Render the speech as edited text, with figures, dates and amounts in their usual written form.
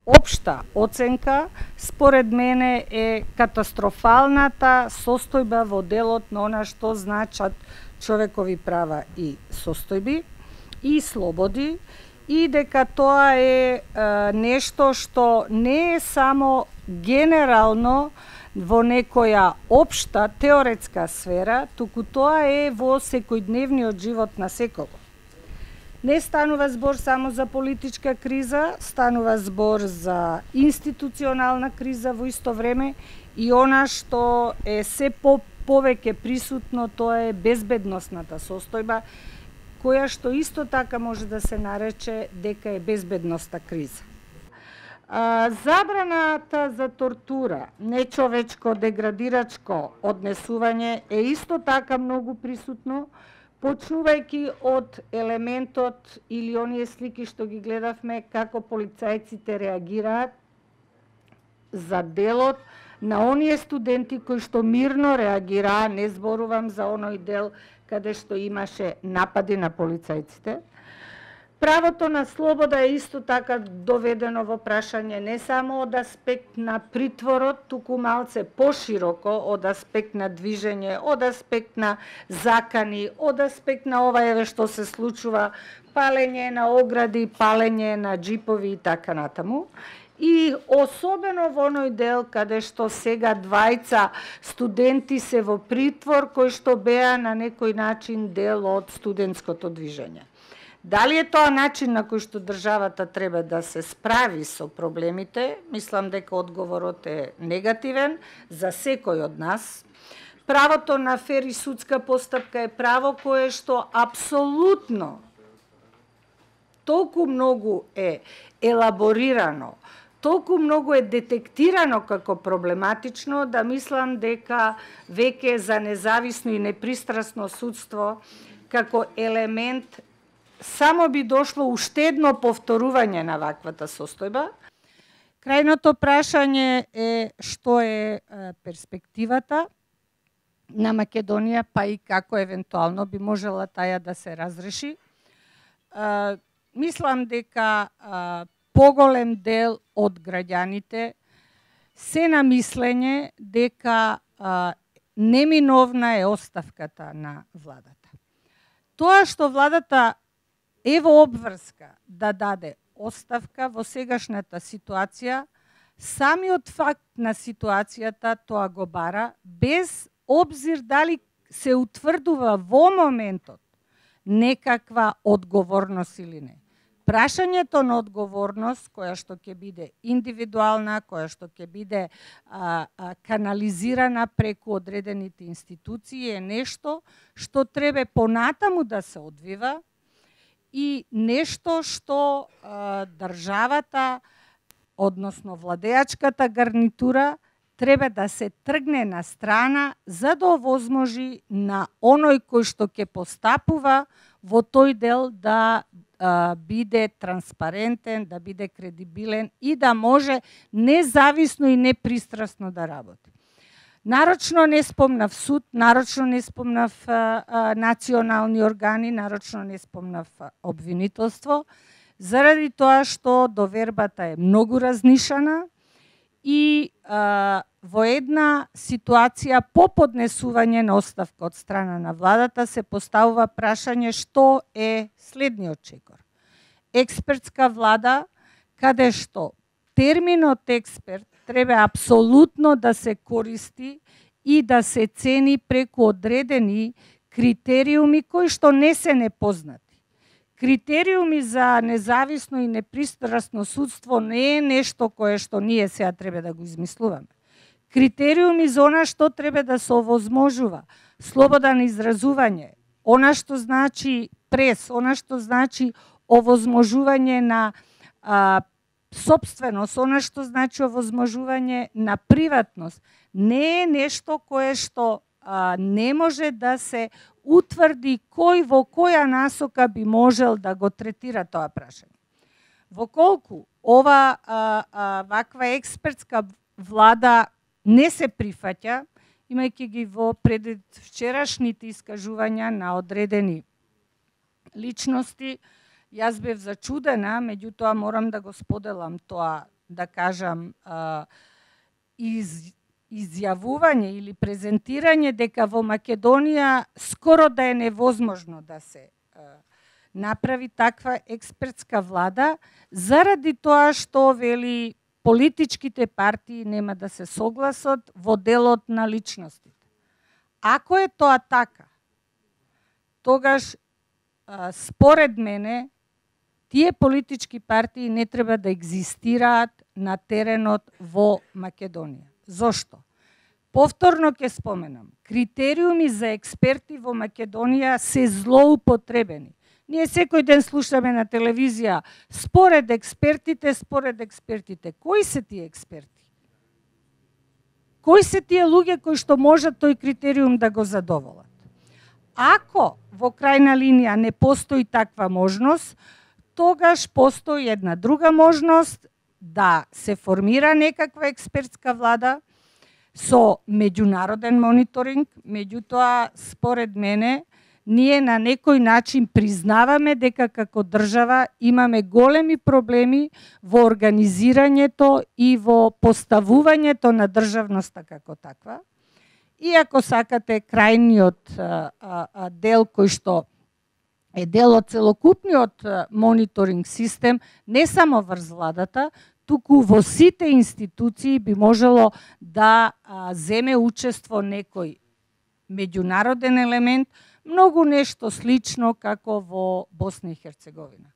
Општа оценка, според мене, е катастрофалната состојба во делот на она што значат човекови права и состојби и слободи, и дека тоа е нешто што не е само генерално во некоја општа теоретска сфера, туку тоа е во секојдневниот живот на секого. Не станува збор само за политичка криза, станува збор за институционална криза во исто време, и она што е се повеќе присутно, тоа е безбедносната состојба, која што исто така може да се нарече дека е безбедноста криза. Забраната за тортура, нечовечко, деградирачко однесување е исто така многу присутно, почнувајќи од елементот или оние слики што ги гледавме како полицајците реагираат за делот на оние студенти кои што мирно реагираа, не зборувам за оној дел каде што имаше напади на полицајците. Правото на слобода е исто така доведено во прашање не само од аспект на притворот, туку малце пошироко од аспект на движење, од аспект на закани, од аспект на ова еве што се случува, палење на огради, палење на џипови и така натаму. И особено во оној дел каде што сега двајца студенти се во притвор кои што беа на некој начин дел од студентското движење. Дали е тоа начин на кој што државата треба да се справи со проблемите? Мислам дека одговорот е негативен за секој од нас. Правото на фер и судска постапка е право кое што апсолутно толку многу е елаборирано, толку многу е детектирано како проблематично, да мислам дека веќе за независно и непристрасно судство како елемент само би дошло уште едно повторување на ваквата состојба. Крајното прашање е што е перспективата на Македонија, па и како евентуално би можела таја да се разреши. Мислам дека поголем дел од граѓаните се на мислење дека неминовна е оставката на владата. Тоа што владата е во обврска да даде оставка во сегашната ситуација, самиот факт на ситуацијата тоа го бара, без обзир дали се утврдува во моментот некаква одговорност или не. Прашањето на одговорност, која што ќе биде индивидуална, која што ќе биде канализирана преку одредените институции, е нешто што треба понатаму да се одвива, и нешто што државата, односно владеачката гарнитура, треба да се тргне на страна за да овозможи на оној кој што ќе постапува во тој дел да биде транспарентен, да биде кредибилен и да може независно и непристрасно да работи. Нарочно не спомнав суд, нарочно не спомнав национални органи, нарочно не спомнав обвинителство, заради тоа што довербата е многу разнишана и во една ситуација по поднесување на оставка од страна на владата се поставува прашање што е следниот чекор. Експертска влада, каде што терминот експерт треба апсолутно да се користи и да се цени преку одредени критериуми кои што не се непознати. Критериуми за независно и непристрасно судство не е нешто кое што ние сега треба да го измислуваме. Критериуми за она што треба да се овозможува, слобода на изразување, она што значи прес, она што значи овозможување на собственост, она што значи овозможување на приватност, не е нешто кое што не може да се утврди кој во која насока би можел да го третира тоа прашање. Воколку ова ваква експертска влада не се прифаќа, имајќи ги во пред вчерашните искажувања на одредени личности, Јас бев зачудена, меѓутоа морам да го споделам тоа да кажам, изјавување или презентирање дека во Македонија скоро да е невозможно да се направи таква експертска влада, заради тоа што вели политичките партии нема да се согласат во делот на личностите. Ако е тоа така, тогаш според мене тие политички партии не треба да екзистираат на теренот во Македонија. Зошто? Повторно ќе споменам, критериуми за експерти во Македонија се злоупотребени. Ние секој ден слушаме на телевизија според експертите. Кои се тие експерти? Кои се тие луѓе кои што можат тој критериум да го задоволат? Ако во крајна линија не постои таква можност, тогаш постои една друга можност да се формира некаква експертска влада со меѓународен мониторинг. Меѓутоа, според мене, ние на некој начин признаваме дека како држава имаме големи проблеми во организирањето и во поставувањето на државноста како таква. И ако сакате, крајниот дел кој што е дел од целокупниот мониторинг систем, не само врз владата, туку во сите институции би можело да земе учество некој меѓународен елемент, многу нешто слично како во Босна и Херцеговина.